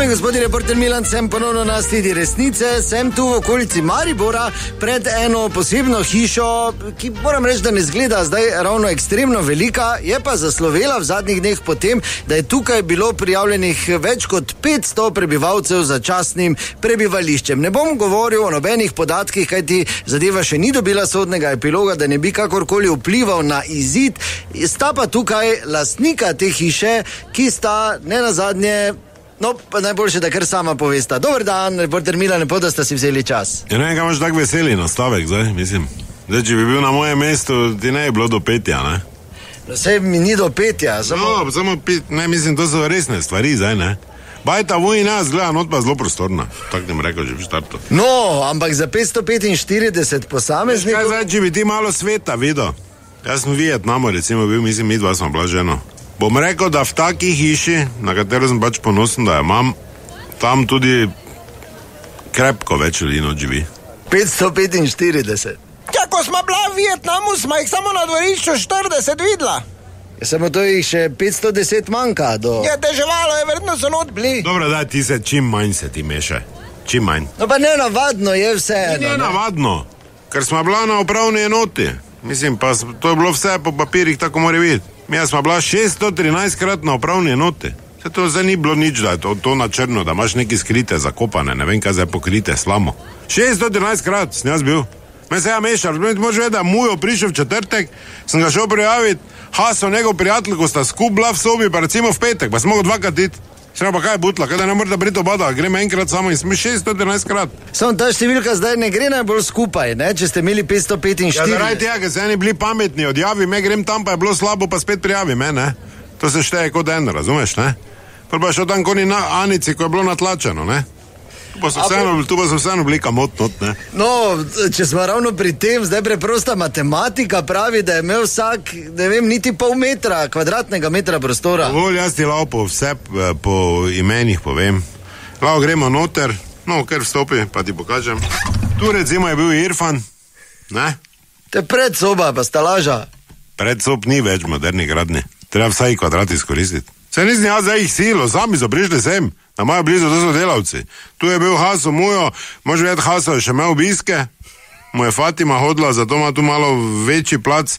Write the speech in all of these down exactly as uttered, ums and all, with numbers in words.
Dame in gospodje, reporter Milan, sem ponovno na Sledi resnice, sem tu v okolici Maribora pred eno posebno hišo, ki moram reči, da ne zgleda zdaj ravno ekstremno velika, je pa zaslovela v zadnjih dneh potem, da je tukaj bilo prijavljenih več kot petsto prebivalcev za častnim prebivališčem. Ne bom govoril o nobenih podatkih, kajti zadeva še ni dobila sodnega epiloga, da ne bi kakorkoli vplival na izid. Sta pa tukaj lastnika te hiše, ki sta ne nazadnje, no, pa najboljše, da kar sama povesta. Dober dan, reporter Milan, lepo, da sta si vzeli čas. Ja, ne vem, kaj imaš tak veseli nastavek zdaj, mislim. Zdaj, če bi bil na mojem mestu, ti ne je bilo do petja, ne? No, sej mi ni do petja, samo... No, samo pet, ne, mislim, to so resne stvari zdaj, ne? Bajta vojna zgleda, not pa zelo prostorna. Tak ne rekel, že v štartu. No, ampak za petsto petinštirideset posameznikov... Kaj zdaj, če bi ti malo sveta videl? Jaz sem v Vietnamu, recimo, bil, mislim, mi dva smo bila ženo. Bom rekel, da v taki hiši, na katero sem pač ponosen, da jo imam, tam tudi krepko več ljudi not živi. petsto petinštirideset. Ja, ko smo bila v Vietnamu, smo jih samo na dvorišču štirideset videla. Ja, samo to jih še petsto deset manjka do... Ja, deževalo je, verjetno so not bili. Dobro, daj, ti se čim manj se ti meše. Čim manj. No pa ne navadno je vse. Ni ne navadno, ker smo bila na upravni enoti. Mislim, pa to je bilo vse po papirjih, tako mora biti. Mi smo bila šeststo trinajst krat na upravni enoti. Se to zdaj ni bilo nič, da je to, to na črno, da imaš neki skrite, zakopane, ne vem kaj zdaj pokrite, slamo. šeststo trinajst krat sem jaz bil. Me se ja mešal, moraš vedeti, da mujo prišel v četrtek, sem ga šel prijaviti, Haso, njegov prijatelj, ko sta skup bila v sobi, pa recimo v petek, pa smo ga dvakrat iti. Sem pa kaj je butla, kaj da ne morate briti obada, gremo enkrat samo in smo šeststo trinajst krat. Samo ta številka zdaj ne gre najbolj skupaj, ne, če ste imeli petsto petinštirideset. Ja, zaradi tega, ker se eni bili pametni, odjavi me, grem tam, pa je bilo slabo, pa spet prijavi me, ne. To se šteje kot en, razumeš, ne? Prvo pa šel tam koni na Anici, ko je bilo natlačeno, ne? Tu pa so vseeno, tu pa so vseeno bili kamot not, ne? No, če smo ravno pri tem, zdaj preprosta matematika pravi, da je imel vsak, ne vem, niti pol metra, kvadratnega metra prostora. Dovolj, jaz ti lao po vse, po imenih povem. Lao gremo noter, no, ker vstopi, pa ti pokažem. Tu recimo je bil Irfan, ne? Te predsoba, pa stalaža. Predsob ni več moderni gradni. Treba vsaj kvadrat izkoristiti. Se nisem jaz zdaj jih silo, sami so prišli sem. Na mojo blizu, to so delavci. Tu je bil Haso mujo, može vedeti, Haso je še imel obiske, mu je Fatima hodila, zato ima tu malo večji plac,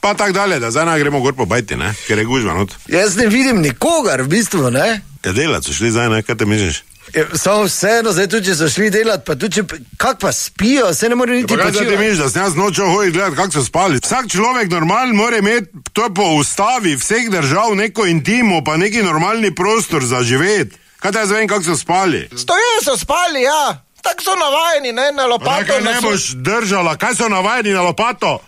pa tak dalje, da zdaj ne gremo gor po bajti, ne, ker je gužva not. Jaz ne vidim nikogar, v bistvu, ne? Ja, delat so šli zdaj, ne, kaj te misliš? Je, samo vseeno, zdaj tudi, če so šli delat, pa tudi, če, kak pa spijo, se ne more niti počivati. Pa kaj ti misliš, da sem jaz nočel hoditi gledati, kak so spali? Vsak človek normalen mora imeti, to je po ustavi vseh držav, neko intimo, pa neki normalni prostor za živeti. Kaj te jaz vem, kak so spali? Stoje so spali, ja. Tak so navajeni, ne, na lopato. Nekaj ne boš držala, kaj so navajeni na lopato?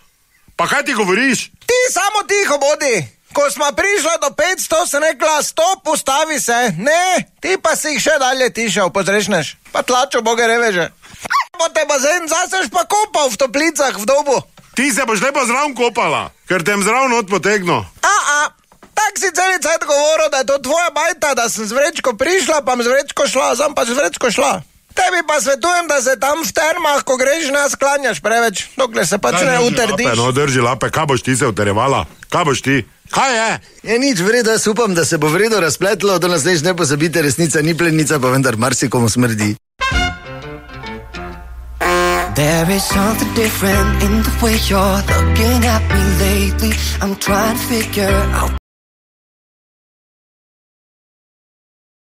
Pa kaj ti govoriš? Ti samo tiho bodi. Ko smo prišla do petsto, sem rekla, stop, ustavi se. Ne, ti pa si jih še dalje tišel, pozrešneš. Pa tlačo boge reveže. Bo te bazen zaseš pa kopal v toplicah v dobu. Ti se boš lepo zraven kopala, ker tem zraven odpotegno. A, a, tak si celi cajt govoril, da je to tvoja bajta, da sem z vrečko prišla, pa z vrečko šla, sem pa z vrečko šla. Tebi pa svetujem, da se tam v termah, ko greš, ne sklanjaš preveč, dokler se pač ne utrdiš. Lape, no, drži lape, kaj boš ti se utrjevala? Kaj boš ti? Kaj je? Je nič vredo, jaz upam, da se bo vredo razpletlo, do naslednjič ne pozabite, resnica ni plenica, pa vendar marsikomu smrdi. There is something different in the way you're looking at me lately. I'm trying to figure out